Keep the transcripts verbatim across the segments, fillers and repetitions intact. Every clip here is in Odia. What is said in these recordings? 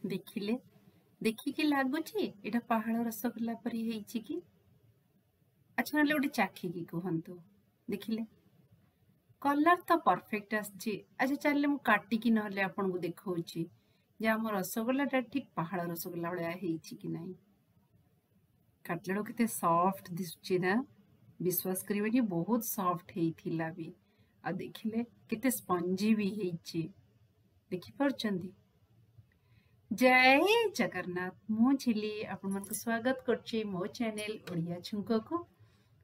ଦେଖିଲେ, ଦେଖିକି ଲାଗୁଛି ଏଇଟା ପାହାଳ ରସଗୋଲା ପରି ହେଇଛି କି? ଆଚ୍ଛା, ନହେଲେ ଗୋଟେ ଚାଖିକି କୁହନ୍ତୁ। ଦେଖିଲେ, କଲର୍ ତ ପରଫେକ୍ଟ ଆସିଛି। ଆଚ୍ଛା, ଚାଲିଲେ ମୁଁ କାଟିକି ନହେଲେ ଆପଣଙ୍କୁ ଦେଖଉଛି ଯେ ଆମ ରସଗୋଲାଟା ଠିକ ପାହାଳ ରସଗୋଲା ଭଳିଆ ହେଇଛି କି ନାହିଁ। କାଟିଲା ବେଳକୁ କେତେ ସଫ୍ଟ ଦିଶୁଛି ନା? ବିଶ୍ୱାସ କରିବେନି, ବହୁତ ସଫ୍ଟ ହେଇଥିଲା ବି। ଆଉ ଦେଖିଲେ, କେତେ ସ୍ପଞ୍ଜି ବି ହେଇଛି, ଦେଖିପାରୁଛନ୍ତି? ଜୟ ଜଗନ୍ନାଥ, ମୁଁ ଝିଲି ଆପଣମାନଙ୍କୁ ସ୍ୱାଗତ କରୁଛି ମୋ ଚ୍ୟାନେଲ ଓଡ଼ିଆ ଛୁଙ୍କକୁ।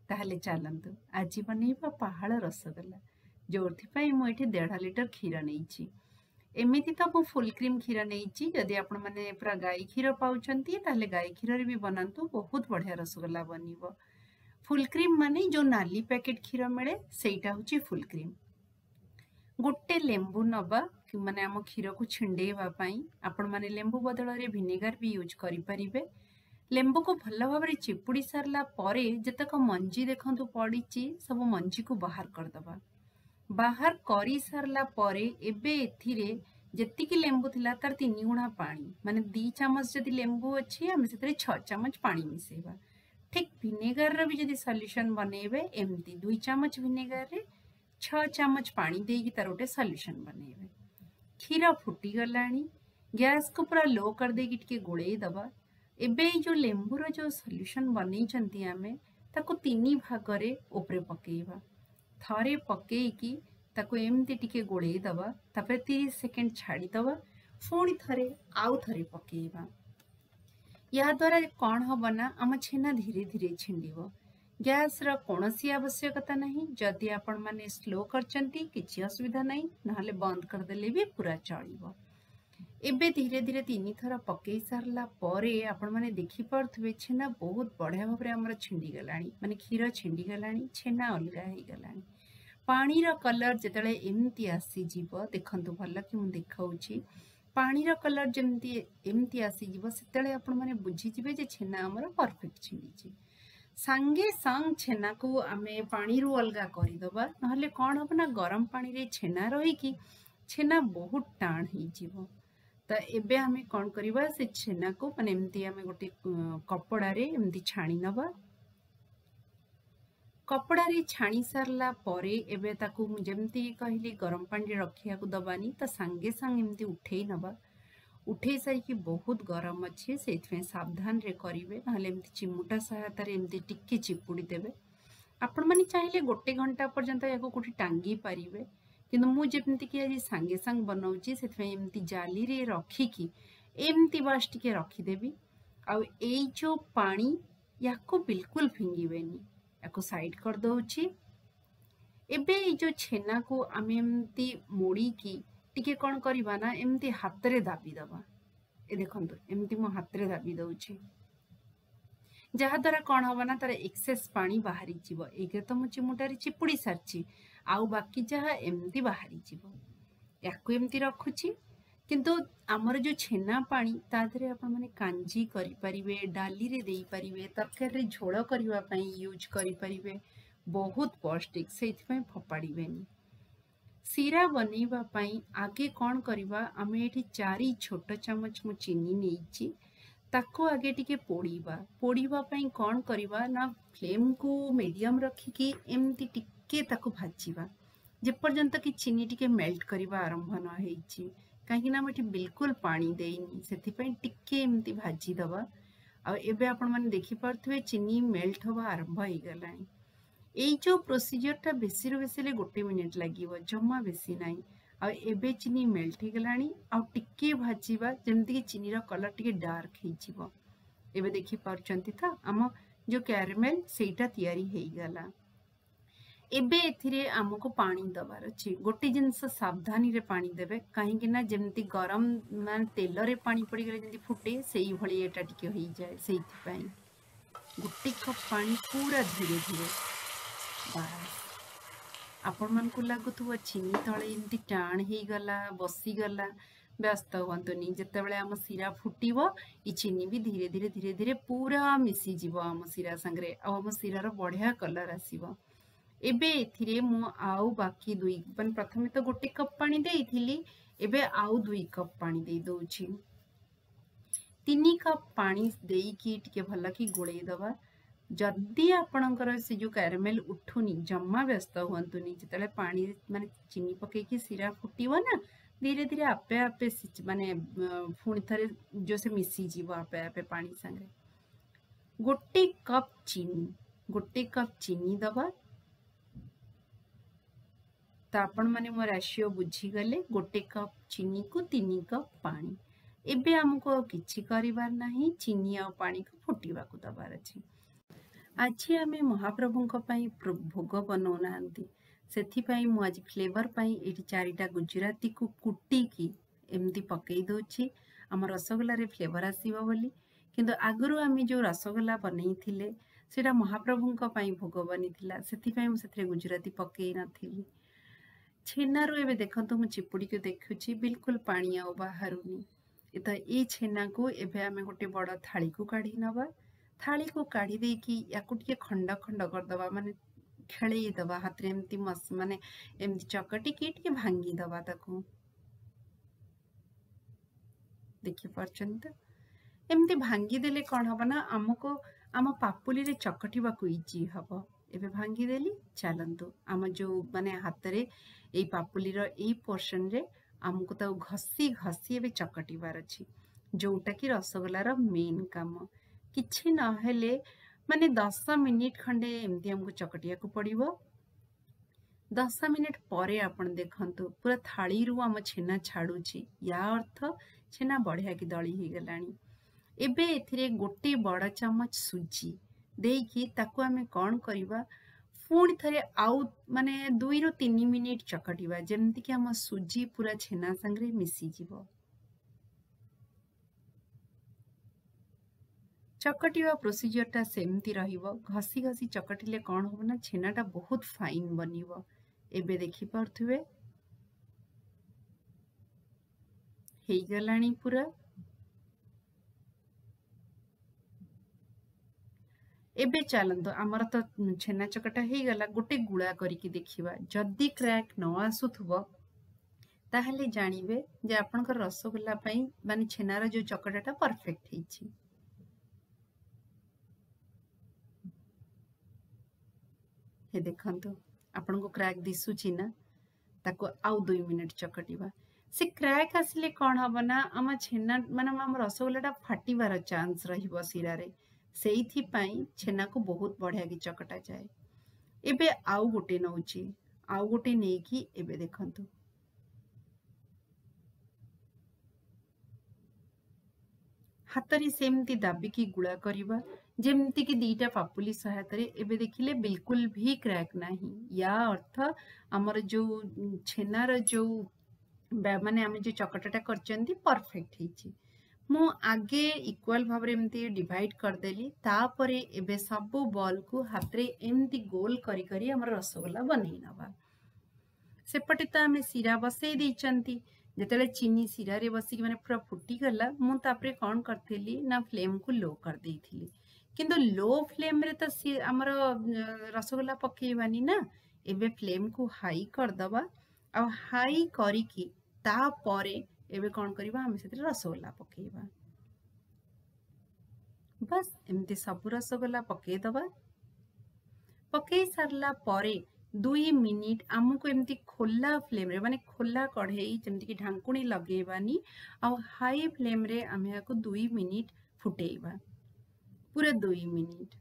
ତାହେଲେ ଚାଲନ୍ତୁ, ଆଜି ବନେଇବା ପାହାଳ ରସଗୋଲା, ଯୋଉଥିପାଇଁ ମୁଁ ଏଠି ଦେଢ଼ ଲିଟର କ୍ଷୀର ନେଇଛି। ଏମିତି ତ ମୁଁ ଫୁଲ୍ କ୍ରିମ୍ କ୍ଷୀର ନେଇଛି। ଯଦି ଆପଣମାନେ ପୁରା ଗାଈ କ୍ଷୀର ପାଉଛନ୍ତି, ତାହେଲେ ଗାଈ କ୍ଷୀରରେ ବି ବନାନ୍ତୁ, ବହୁତ ବଢ଼ିଆ ରସଗୋଲା ବନିବ। ଫୁଲ୍ କ୍ରିମ୍ ମାନେ ଯୋଉ ନାଲି ପ୍ୟାକେଟ୍ କ୍ଷୀର ମିଳେ, ସେଇଟା ହେଉଛି ଫୁଲ୍ କ୍ରିମ୍। ଗୋଟେ ଲେମ୍ବୁ ନବା, ମାନେ ଆମ କ୍ଷୀରକୁ ଛିଣ୍ଡେଇବା ପାଇଁ। ଆପଣମାନେ ଲେମ୍ବୁ ବଦଳରେ ଭିନେଗାର ବି ୟୁଜ୍ କରିପାରିବେ। ଲେମ୍ବୁକୁ ଭଲ ଭାବରେ ଚିପୁଡ଼ି ସାରିଲା ପରେ ଯେତେକ ମଞ୍ଜି ଦେଖନ୍ତୁ ପଡ଼ିଛି, ସବୁ ମଞ୍ଜିକୁ ବାହାର କରିଦେବା। ବାହାର କରିସାରିଲା ପରେ ଏବେ ଏଥିରେ ଯେତିକି ଲେମ୍ବୁ ଥିଲା ତାର ତିନି ଗୁଣା ପାଣି, ମାନେ ଦି ଚାମଚ ଯଦି ଲେମ୍ବୁ ଅଛି, ଆମେ ସେଥିରେ ଛଅ ଚାମଚ ପାଣି ମିଶେଇବା। ଠିକ୍ ଭିନେଗାରର ବି ଯଦି ସଲ୍ୟୁସନ୍ ବନେଇବେ, ଏମିତି ଦୁଇ ଚାମଚ ଭିନେଗାରରେ ଛଅ ଚାମଚ ପାଣି ଦେଇକି ତାର ଗୋଟେ ସଲ୍ୟୁସନ୍ ବନେଇବେ। କ୍ଷୀର ଫୁଟିଗଲାଣି, ଗ୍ୟାସକୁ ପୁରା ଲୋ କରିଦେଇକି ଟିକେ ଗୋଳେଇ ଦେବା। ଏବେ ଏଇ ଯୋଉ ଲେମ୍ବୁର ଯୋଉ ସଲ୍ୟୁସନ୍ ବନେଇଛନ୍ତି ଆମେ, ତାକୁ ତିନି ଭାଗରେ ଉପରେ ପକେଇବା। ଥରେ ପକେଇକି ତାକୁ ଏମିତି ଟିକେ ଗୋଳେଇ ଦେବା, ତାପରେ ତିରିଶ ସେକେଣ୍ଡ ଛାଡ଼ିଦେବା, ପୁଣି ଥରେ ଆଉ ଥରେ ପକେଇବା। ଏହାଦ୍ୱାରା କ'ଣ ହବ ନା, ଆମ ଛେନା ଧୀରେ ଧୀରେ ଛିଣ୍ଡିବ। ଗ୍ୟାସର କୌଣସି ଆବଶ୍ୟକତା ନାହିଁ। ଯଦି ଆପଣମାନେ ସ୍ଲୋ କରିଛନ୍ତି, କିଛି ଅସୁବିଧା ନାହିଁ, ନହେଲେ ବନ୍ଦ କରିଦେଲେ ବି ପୁରା ଚଳିବ। ଏବେ ଧୀରେ ଧୀରେ ତିନି ଥର ପକେଇ ସାରିଲା ପରେ ଆପଣମାନେ ଦେଖିପାରୁଥିବେ, ଛେନା ବହୁତ ବଢ଼ିଆ ଭାବରେ ଆମର ଛିଣ୍ଡିଗଲାଣି, ମାନେ କ୍ଷୀର ଛିଣ୍ଡିଗଲାଣି, ଛେନା ଅଲଗା ହେଇଗଲାଣି। ପାଣିର କଲର୍ ଯେତେବେଳେ ଏମିତି ଆସିଯିବ, ଦେଖନ୍ତୁ ଭଲ କି ମୁଁ ଦେଖାଉଛି, ପାଣିର କଲର୍ ଯେମିତି ଏମିତି ଆସିଯିବ, ସେତେବେଳେ ଆପଣମାନେ ବୁଝିଯିବେ ଯେ ଛେନା ଆମର ପରଫେକ୍ଟ ଛିଣ୍ଡିଛି। ସାଙ୍ଗେ ସାଙ୍ଗ ଛେନାକୁ ଆମେ ପାଣିରୁ ଅଲଗା କରିଦେବା, ନହେଲେ କ'ଣ ହବ ନା, ଗରମ ପାଣିରେ ଛେନା ରହିକି ଛେନା ବହୁତ ଟାଣ ହେଇଯିବ। ତ ଏବେ ଆମେ କ'ଣ କରିବା, ସେ ଛେନାକୁ ମାନେ ଏମିତି ଆମେ ଗୋଟେ କପଡ଼ାରେ ଏମିତି ଛାଣି ନେବା। କପଡ଼ାରେ ଛାଣି ସାରିଲା ପରେ ଏବେ ତାକୁ ମୁଁ ଯେମିତି କହିଲି, ଗରମ ପାଣିରେ ରଖିବାକୁ ଦବାନି, ତ ସାଙ୍ଗେ ସାଙ୍ଗେ ଏମିତି ଉଠେଇ ନେବା। ଉଠେଇ ସାରିକି, ବହୁତ ଗରମ ଅଛି, ସେଇଥିପାଇଁ ସାବଧାନରେ କରିବେ, ନହେଲେ ଏମିତି ଚିମୁଟା ସହାୟତାରେ ଏମିତି ଟିକେ ଚିପୁଡ଼ି ଦେବେ। ଆପଣମାନେ ଚାହିଁଲେ ଗୋଟେ ଘଣ୍ଟା ପର୍ଯ୍ୟନ୍ତ ଏହାକୁ କୋଉଠି ଟାଙ୍ଗି ପାରିବେ, କିନ୍ତୁ ମୁଁ ଯେମିତିକି ଆଜି ସାଙ୍ଗେ ସାଙ୍ଗେ ବନଉଛି, ସେଥିପାଇଁ ଏମିତି ଜାଲିରେ ରଖିକି ଏମିତି ବାସ୍ ଟିକେ ରଖିଦେବି। ଆଉ ଏଇ ଯୋଉ ପାଣି, ୟାକୁ ବିଲକୁଲ ଫିଙ୍ଗିବେନି, ୟାକୁ ସାଇଡ୍ କରିଦେଉଛି। ଏବେ ଏଇ ଯୋଉ ଛେନାକୁ ଆମେ ଏମିତି ମୋଡ଼ିକି ଟିକେ କ'ଣ କରିବା ନା, ଏମିତି ହାତରେ ଦାବି ଦେବା। ଏ ଦେଖନ୍ତୁ, ଏମିତି ମୁଁ ହାତରେ ଦାବି ଦେଉଛି, ଯାହାଦ୍ୱାରା କ'ଣ ହବ ନା, ତାର ଏକ୍ସେସ୍ ପାଣି ବାହାରିଯିବ। ଏଇରେ ତ ମୁଁ ଚିମୁଟାରେ ଚିପୁଡ଼ି ସାରିଛି, ଆଉ ବାକି ଯାହା ଏମିତି ବାହାରିଯିବ। ୟାକୁ ଏମିତି ରଖୁଛି। କିନ୍ତୁ ଆମର ଯୋଉ ଛେନା ପାଣି, ତା ଦେହରେ ଆପଣମାନେ କାଞ୍ଜି କରିପାରିବେ, ଡାଲିରେ ଦେଇପାରିବେ, ତରକାରୀରେ ଝୋଳ କରିବା ପାଇଁ ୟୁଜ୍ କରିପାରିବେ। ବହୁତ ପୌଷ୍ଟିକ, ସେଇଥିପାଇଁ ଫୋପାଡ଼ିବେନି। ଶିରା ବନେଇବା ପାଇଁ ଆଗେ କ'ଣ କରିବା, ଆମେ ଏଠି ଚାରି ଛୋଟ ଚାମଚ ମୁଁ ଚିନି ନେଇଛି, ତାକୁ ଆଗେ ଟିକେ ପୋଡ଼ିବା। ପୋଡ଼ିବା ପାଇଁ କ'ଣ କରିବା ନା, ଫ୍ଲେମ୍କୁ ମିଡ଼ିୟମ୍ ରଖିକି ଏମିତି ଟିକେ ତାକୁ ଭାଜିବା, ଯେପର୍ଯ୍ୟନ୍ତ କି ଚିନି ଟିକେ ମେଲ୍ଟ କରିବା ଆରମ୍ଭ ନ ହେଇଛି। କାହିଁକି ନା ମୁଁ ଏଠି ବିଲକୁଲ ପାଣି ଦେଇନି, ସେଥିପାଇଁ ଟିକେ ଏମିତି ଭାଜିଦେବା। ଆଉ ଏବେ ଆପଣମାନେ ଦେଖିପାରୁଥିବେ, ଚିନି ମେଲ୍ଟ ହେବା ଆରମ୍ଭ ହେଇଗଲାଣି। ଏଇ ଯୋଉ ପ୍ରୋସିଜିଅରଟା ବେଶୀରୁ ବେଶୀ ହେଲେ ଗୋଟେ ମିନିଟ୍ ଲାଗିବ, ଜମା ବେଶୀ ନାହିଁ। ଆଉ ଏବେ ଚିନି ମେଲ୍ଟ ହେଇଗଲାଣି, ଆଉ ଟିକେ ଭାଜିବା, ଯେମିତିକି ଚିନିର କଲର୍ ଟିକେ ଡାର୍କ ହେଇଯିବ। ଏବେ ଦେଖିପାରୁଛନ୍ତି ତ, ଆମ ଯୋଉ କ୍ୟାରମେଲ ସେଇଟା ତିଆରି ହେଇଗଲା। ଏବେ ଏଥିରେ ଆମକୁ ପାଣି ଦବାର ଅଛି। ଗୋଟେ ଜିନିଷ, ସାବଧାନୀରେ ପାଣି ଦେବେ, କାହିଁକି ନା ଯେମିତି ଗରମ ମାନେ ତେଲରେ ପାଣି ପଡ଼ିଗଲେ ଯେମିତି ଫୁଟେ, ସେଇଭଳି ଏଇଟା ଟିକେ ହେଇଯାଏ। ସେଇଥିପାଇଁ ଗୋଟେ କପ୍ ପାଣି ପୁରା ଧୀରେ ଧୀରେ ବାସ୍। ଆପଣମାନଙ୍କୁ ଲାଗୁଥିବ ଚିନି ତଳେ ଏମିତି ଟାଣ ହେଇଗଲା, ବସିଗଲା। ବ୍ୟସ୍ତ ହୁଅନ୍ତୁନି, ଯେତେବେଳେ ଆମ ଶିରା ଫୁଟିବ, ଏ ଚିନି ବି ଧୀରେ ଧୀରେ ଧୀରେ ଧୀରେ ପୁରା ମିଶିଯିବ ଆମ ଶିରା ସାଙ୍ଗରେ, ଆଉ ଆମ ଶିରାର ବଢ଼ିଆ କଲର୍ ଆସିବ। ଏବେ ଏଥିରେ ମୁଁ ଆଉ ବାକି ଦୁଇ, ମାନେ ପ୍ରଥମେ ତ ଗୋଟେ କପ୍ ପାଣି ଦେଇଥିଲି, ଏବେ ଆଉ ଦୁଇ କପ୍ ପାଣି ଦେଇ ଦଉଛି। ତିନି କପ୍ ପାଣି ଦେଇକି ଟିକେ ଭଲକି ଗୋଳେଇ ଦେବା। ଯଦି ଆପଣଙ୍କର ସେ ଯେଉଁ କ୍ୟାରାମେଲ୍ ଉଠୁନି, ଜମା ବ୍ୟସ୍ତ ହୁଅନ୍ତୁନି। ଯେତେବେଳେ ପାଣି ମାନେ ଚିନି ପକେଇକି ଶିରା ଫୁଟିବ ନା, ଧୀରେ ଧୀରେ ଆପେ ଆପେ ମାନେ ପୁଣି ଥରେ ଯେଉଁ ସେ ମିଶିଯିବ ଆପେ ଆପେ ପାଣି ସାଙ୍ଗରେ। ଗୋଟେ କପ୍ ଚିନି, ଗୋଟେ କପ୍ ଚିନି ଦେବା। ତ ଆପଣମାନେ ମୋ ରାସିଓ ବୁଝିଗଲେ, ଗୋଟେ କପ୍ ଚିନିକୁ ତିନି କପ୍ ପାଣି। ଏବେ ଆମକୁ ଆଉ କିଛି କରିବାର ନାହିଁ, ଚିନି ଆଉ ପାଣିକୁ ଫୁଟିବାକୁ ଦେବାର ଅଛି। ଆଜି ଆମେ ମହାପ୍ରଭୁଙ୍କ ପାଇଁ ଭୋଗ ବନଉନାହାନ୍ତି, ସେଥିପାଇଁ ମୁଁ ଆଜି ଫ୍ଲେଭର ପାଇଁ ଏଇଠି ଚାରିଟା ଗୁଜୁରାତିକୁ କୁଟିକି ଏମିତି ପକେଇ ଦେଉଛି, ଆମ ରସଗୋଲାରେ ଫ୍ଲେଭର ଆସିବ ବୋଲି। କିନ୍ତୁ ଆଗରୁ ଆମେ ଯେଉଁ ରସଗୋଲା ବନେଇଥିଲେ ସେଇଟା ମହାପ୍ରଭୁଙ୍କ ପାଇଁ ଭୋଗ ବନିଥିଲା, ସେଥିପାଇଁ ମୁଁ ସେଥିରେ ଗୁଜୁରାତି ପକେଇ ନଥିଲି। ଛେନାରୁ ଏବେ ଦେଖନ୍ତୁ, ମୁଁ ଚିପୁଡ଼ିକି ଦେଖୁଛି, ବିଲକୁଲ ପାଣି ଆଉ ବାହାରୁନି ତ। ଏଇ ଛେନାକୁ ଏବେ ଆମେ ଗୋଟେ ବଡ଼ ଥାଳିକୁ କାଢ଼ି ନେବା। ଥାଳିକୁ କାଢ଼ି ଦେଇକି ୟାକୁ ଟିକେ ଖଣ୍ଡ ଖଣ୍ଡ କରିଦେବା, ମାନେ ଖେଳେଇ ଦେବା ହାତରେ ଏମିତି, ମାନେ ଏମିତି ଚକଟିକି ଟିକେ ଭାଙ୍ଗିଦେବା ତାକୁ। ଦେଖିପାରୁଛନ୍ତି ତ? ଏମିତି ଭାଙ୍ଗିଦେଲେ କ'ଣ ହବ ନା, ଆମକୁ ଆମ ପାପୁଲିରେ ଚକଟିବାକୁ ଇଜି ହବ। ଏବେ ଭାଙ୍ଗିଦେଲି। ଚାଲନ୍ତୁ, ଆମ ଯେଉଁ ମାନେ ହାତରେ ଏଇ ପାପୁଲିର ଏଇ ପୋର୍ସନରେ ଆମକୁ ତାକୁ ଘଷି ଘଷି ଏବେ ଚକଟିବାର ଅଛି, ଯୋଉଟାକି ରସଗୋଲାର ମେନ୍ କାମ। କିଛି ନହେଲେ ମାନେ ଦଶ ମିନିଟ୍ ଖଣ୍ଡେ ଏମିତି ଆମକୁ ଚକଟିବାକୁ ପଡ଼ିବ। ଦଶ ମିନିଟ୍ ପରେ ଆପଣ ଦେଖନ୍ତୁ, ପୁରା ଥାଳିରୁ ଆମ ଛେନା ଛାଡୁଛି। ୟା ଅର୍ଥ ଛେନା ବଢ଼ିଆକି ଦଳି ହେଇଗଲାଣି। ଏବେ ଏଥିରେ ଗୋଟେ ବଡ଼ ଚାମଚ ସୁଜି ଦେଇକି ତାକୁ ଆମେ କ'ଣ କରିବା, ପୁଣି ଥରେ ଆଉ ମାନେ ଦୁଇରୁ ତିନି ମିନିଟ୍ ଚକଟିବା, ଯେମିତିକି ଆମ ସୁଜି ପୁରା ଛେନା ସାଙ୍ଗରେ ମିଶିଯିବ। ଚକଟିବା ପ୍ରୋସିଜିଅରଟା ସେମିତି ରହିବ। ଘଷି ଘଷି ଚକଟିଲେ କ'ଣ ହବ ନା, ଛେନାଟା ବହୁତ ଫାଇନ୍ ବନିବ। ଏବେ ଦେଖିପାରୁଥିବେ, ହେଇଗଲାଣି ପୁରା। ଏବେ ଚାଲନ୍ତୁ, ଆମର ତ ଛେନା ଚକଟା ହେଇଗଲା, ଗୋଟେ ଗୁଳା କରିକି ଦେଖିବା। ଯଦି କ୍ରାକ୍ ନ ଆସୁଥିବ, ତାହେଲେ ଜାଣିବେ ଯେ ଆପଣଙ୍କର ରସଗୋଲା ପାଇଁ ମାନେ ଛେନାର ଯୋଉ ଚକଟାଟା ପରଫେକ୍ଟ ହେଇଛି। ହେ ଦେଖନ୍ତୁ, ଆପଣଙ୍କୁ କ୍ରାକ୍ ଦିଶୁଛି ନା? ତାକୁ ଆଉ ଦୁଇ ମିନିଟ୍ ଚକଟିବା। ସେ କ୍ରାକ୍ ଆସିଲେ କ'ଣ ହବ ନା, ଆମ ଛେନା ମାନେ ଆମ ରସଗୋଲାଟା ଫାଟିବାର ଚାନ୍ସ ରହିବ ଶିରାରେ। ସେଇଥିପାଇଁ ଛେନାକୁ ବହୁତ ବଢ଼ିଆକି ଚକଟା ଯାଏ। ଏବେ ଆଉ ଗୋଟେ ନଉଛି, ଆଉ ଗୋଟେ ନେଇକି ଏବେ ଦେଖନ୍ତୁ, ହାତରେ ସେମିତି ଦାବିକି ଗୁଳା କରିବା, ଯେମିତିକି ଦିଟା ପାପୁଲି ସହାୟତାରେ। ଏବେ ଦେଖିଲେ, ବିଲକୁଲ ବି କ୍ରାକ୍ ନାହିଁ। ୟା ଅର୍ଥ ଆମର ଯୋଉ ଛେନାର ଯୋଉ ମାନେ ଆମେ ଯୋଉ ଚକଟାଟା କରିଛନ୍ତି, ପରଫେକ୍ଟ ହେଇଛି। ମୁଁ ଆଗେ ଇକ୍ୱାଲ ଭାବରେ ଏମିତି ଡିଭାଇଡ୍ କରିଦେଲି, ତାପରେ ଏବେ ସବୁ ବଲ୍କୁ ହାତରେ ଏମିତି ଗୋଲ କରି କରି ଆମର ରସଗୋଲା ବନେଇ ନେବା। ସେପଟେ ତ ଆମେ ଶିରା ବସେଇ ଦେଇଛନ୍ତି। ଯେତେବେଳେ ଚିନି ଶିରାରେ ବସିକି ମାନେ ପୁରା ଫୁଟିଗଲା, ମୁଁ ତାପରେ କ'ଣ କରିଥିଲି ନା, ଫ୍ଲେମ୍କୁ ଲୋ କରିଦେଇଥିଲି। କିନ୍ତୁ ଲୋ ଫ୍ଲେମ୍ରେ ତ ସିଏ ଆମର ରସଗୋଲା ପକେଇବାନି ନା। ଏବେ ଫ୍ଲେମ୍କୁ ହାଇ କରିଦେବା, ଆଉ ହାଇ କରିକି ତାପରେ ଏବେ କ'ଣ କରିବା, ଆମେ ସେଥିରେ ରସଗୋଲା ପକେଇବା। ବାସ୍, ଏମିତି ସବୁ ରସଗୋଲା ପକେଇଦବା। ପକେଇ ସାରିଲା ପରେ ଦୁଇ ମିନିଟ୍ ଆମକୁ ଏମିତି ଖୋଲା ଫ୍ଲେମ୍ରେ, ମାନେ ଖୋଲା କଢ଼େଇ, ଯେମିତିକି ଢାଙ୍କୁଣୀ ଲଗେଇବାନି, ଆଉ ହାଇ ଫ୍ଲେମ୍ରେ ଆମେ ଏହାକୁ ଦୁଇ ମିନିଟ୍ ଫୁଟେଇବା, ପୁରା ଦୁଇ ମିନିଟ୍।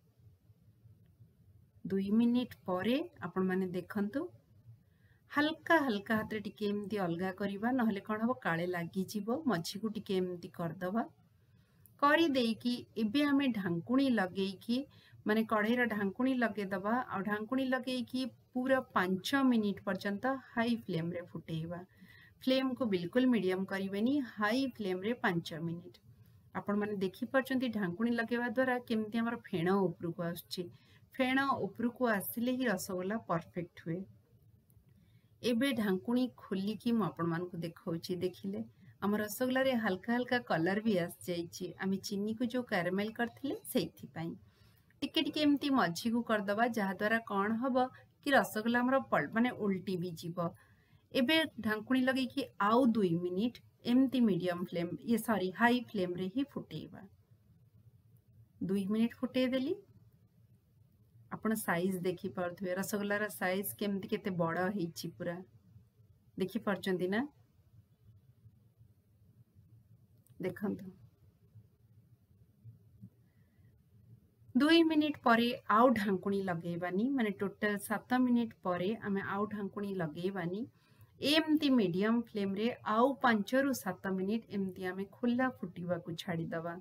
ଦୁଇ ମିନିଟ୍ ପରେ ଆପଣମାନେ ଦେଖନ୍ତୁ, ହାଲକା ହାଲକା ହାତରେ ଟିକେ ଏମିତି ଅଲଗା କରିବା, ନହେଲେ କ'ଣ ହବ, କାଳେ ଲାଗିଯିବ। ମଝିକୁ ଟିକେ ଏମିତି କରିଦେବା। କରିଦେଇକି ଏବେ ଆମେ ଢାଙ୍କୁଣୀ ଲଗେଇକି, ମାନେ କଢ଼େଇର ଢାଙ୍କୁଣୀ ଲଗେଇଦେବା, ଆଉ ଢାଙ୍କୁଣୀ ଲଗେଇକି ପୁରା ପାଞ୍ଚ ମିନିଟ୍ ପର୍ଯ୍ୟନ୍ତ ହାଇ ଫ୍ଲେମ୍ରେ ଫୁଟେଇବା। ଫ୍ଲେମ୍କୁ ବିଲକୁଲ ମିଡ଼ିୟମ୍ କରିବେନି, ହାଇ ଫ୍ଲେମ୍ରେ ପାଞ୍ଚ ମିନିଟ୍। ଆପଣମାନେ ଦେଖିପାରୁଛନ୍ତି, ଢାଙ୍କୁଣୀ ଲଗେଇବା ଦ୍ୱାରା କେମିତି ଆମର ଫେଣ ଉପରକୁ ଆସୁଛି। ଫେଣ ଉପରକୁ ଆସିଲେ ହିଁ ରସଗୋଲା ପରଫେକ୍ଟ ହୁଏ। ଏବେ ଢାଙ୍କୁଣୀ ଖୋଲିକି ମୁଁ ଆପଣମାନଙ୍କୁ ଦେଖାଉଛି। ଦେଖିଲେ, ଆମ ରସଗୋଲାରେ ହାଲକା ହାଲକା କଲର୍ ବି ଆସିଯାଇଛି, ଆମେ ଚିନିକୁ ଯେଉଁ କ୍ୟାରାମେଲ୍ କରିଥିଲେ ସେଇଥିପାଇଁ। ଟିକେ ଟିକେ ଏମିତି ମଝିକୁ କରିଦେବା, ଯାହାଦ୍ୱାରା କ'ଣ ହବ କି ରସଗୋଲା ଆମର ମାନେ ଓଲଟି ବି ଯିବ। ଏବେ ଢାଙ୍କୁଣୀ ଲଗେଇକି ଆଉ ଦୁଇ ମିନିଟ୍ ଏମିତି ମିଡ଼ିୟମ୍ ଫ୍ଲେମ୍, ଇଏ ସରି, ହାଇ ଫ୍ଲେମ୍ରେ ହିଁ ଫୁଟେଇବା। ଦୁଇ ମିନିଟ୍ ଫୁଟେଇ ଦେଲି। ଆପଣ ସାଇଜ୍ ଦେଖିପାରୁଥିବେ, ରସଗୋଲାର ସାଇଜ୍ କେମିତି କେତେ ବଡ଼ ହେଇଛି ପୁରା, ଦେଖିପାରୁଛନ୍ତି ନା? ଦେଖନ୍ତୁ, ଦୁଇ ମିନିଟ୍ ପରେ ଆଉ ଢାଙ୍କୁଣୀ ଲଗେଇବାନି, ମାନେ ଟୋଟାଲ ସାତ ମିନିଟ୍ ପରେ ଆମେ ଆଉ ଢାଙ୍କୁଣୀ ଲଗେଇବାନି। ଏମିତି ମିଡ଼ିୟମ୍ ଫ୍ଲେମ୍ରେ ଆଉ ପାଞ୍ଚରୁ ସାତ ମିନିଟ୍ ଏମିତି ଆମେ ଖୋଲା ଫୁଟିବାକୁ ଛାଡ଼ିଦେବା।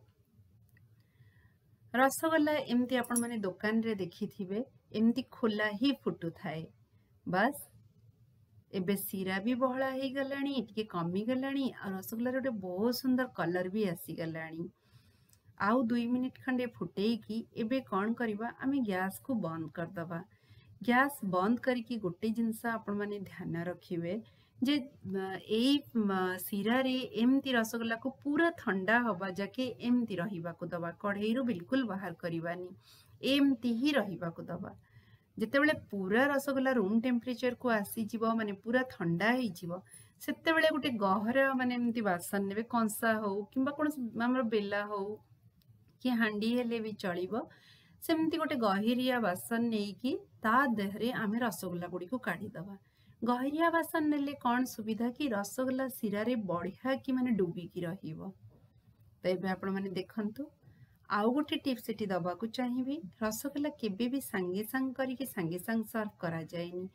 ରସଗୋଲା ଏମିତି ଆପଣମାନେ ଦୋକାନରେ ଦେଖିଥିବେ, ଏମିତି ଖୋଲା ହିଁ ଫୁଟୁଥାଏ। ବାସ୍, ଏବେ ଶିରା ବି ବହଳା ହେଇଗଲାଣି, ଟିକେ କମିଗଲାଣି, ଆଉ ରସଗୋଲାର ଗୋଟେ ବହୁତ ସୁନ୍ଦର କଲର୍ ବି ଆସିଗଲାଣି। ଆଉ ଦୁଇ ମିନିଟ୍ ଖଣ୍ଡେ ଫୁଟେଇକି ଏବେ କ'ଣ କରିବା? ଆମେ ଗ୍ୟାସ୍କୁ ବନ୍ଦ କରିଦେବା। ଗ୍ୟାସ୍ ବନ୍ଦ କରିକି ଗୋଟେ ଜିନିଷ ଆପଣମାନେ ଧ୍ୟାନ ରଖିବେ ଯେ ଏଇ ଶିରାରେ ଏମିତି ରସଗୋଲାକୁ ପୁରା ଥଣ୍ଡା ହବା ଯାକେ ଏମିତି ରହିବାକୁ ଦେବା, କଢ଼େଇରୁ ବିଲକୁଲ ବାହାର କରିବାନି, ଏମିତି ହିଁ ରହିବାକୁ ଦେବା। ଯେତେବେଳେ ପୁରା ରସଗୋଲା ରୁମ୍ ଟେମ୍ପରେଚରକୁ ଆସିଯିବ, ମାନେ ପୁରା ଥଣ୍ଡା ହେଇଯିବ, ସେତେବେଳେ ଗୋଟେ ଗହରା ମାନେ ଏମିତି ବାସନ ନେବେ, କଂସା ହଉ କିମ୍ବା କୌଣସି ଆମର ବେଲା ହଉ କି ହାଣ୍ଡି ହେଲେ ବି ଚଳିବ। ସେମିତି ଗୋଟେ ଗହିରିଆ ବାସନ ନେଇକି ତା ଦେହରେ ଆମେ ରସଗୋଲା ଗୁଡ଼ିକୁ କାଢ଼ିଦେବା। ଗହିରିଆ ବାସନ ନେଲେ କ'ଣ ସୁବିଧା କି ରସଗୋଲା ଶିରାରେ ବଢ଼ିଆ କି ମାନେ ଡୁବିକି ରହିବ। ତ ଏବେ ଆପଣମାନେ ଦେଖନ୍ତୁ, ଆଉ ଗୋଟେ ଟିପ୍ସ ଏଠି ଦେବାକୁ ଚାହିଁବି। ରସଗୋଲା କେବେ ବି ସାଙ୍ଗେ ସାଙ୍ଗେ କରିକି ସାଙ୍ଗେ ସାଙ୍ଗେ ସର୍ଭ କରାଯାଏନି।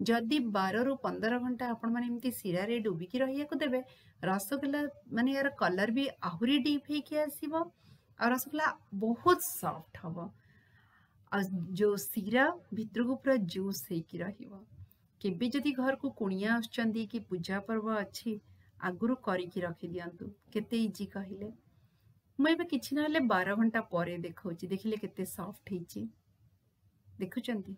ଯଦି ବାରରୁ ପନ୍ଦର ଘଣ୍ଟା ଆପଣମାନେ ଏମିତି ଶିରାରେ ଡୁବିକି ରହିବାକୁ ଦେବେ, ରସଗୋଲା ମାନେ ଏହାର କଲର୍ ବି ଆହୁରି ଡିପ୍ ହେଇକି ଆସିବ, ଆଉ ରସଗୋଲା ବହୁତ ସଫ୍ଟ ହବ, ଆଉ ଯୋଉ ଶିରା ଭିତରକୁ ପୁରା ଜୁସ୍ ହେଇକି ରହିବ। କେବେ ଯଦି ଘରକୁ କୁଣିଆ ଆସୁଛନ୍ତି କି ପୂଜା ପର୍ବ ଅଛି, ଆଗରୁ କରିକି ରଖିଦିଅନ୍ତୁ। କେତେ ଇଜି କହିଲେ? ମୁଁ ଏବେ କିଛି ନହେଲେ ବାର ଘଣ୍ଟା ପରେ ଦେଖାଉଛି। ଦେଖିଲେ କେତେ ସଫ୍ଟ ହେଇଛି, ଦେଖୁଛନ୍ତି?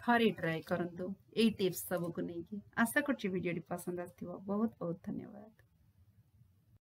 ଥରେ ଟ୍ରାଏ କରନ୍ତୁ ଏଇ ଟିପ୍ସ ସବୁକୁ ନେଇକି। ଆଶା କରୁଛି ଭିଡ଼ିଓଟି ପସନ୍ଦ ଆସିଥିବ। ବହୁତ ବହୁତ ଧନ୍ୟବାଦ।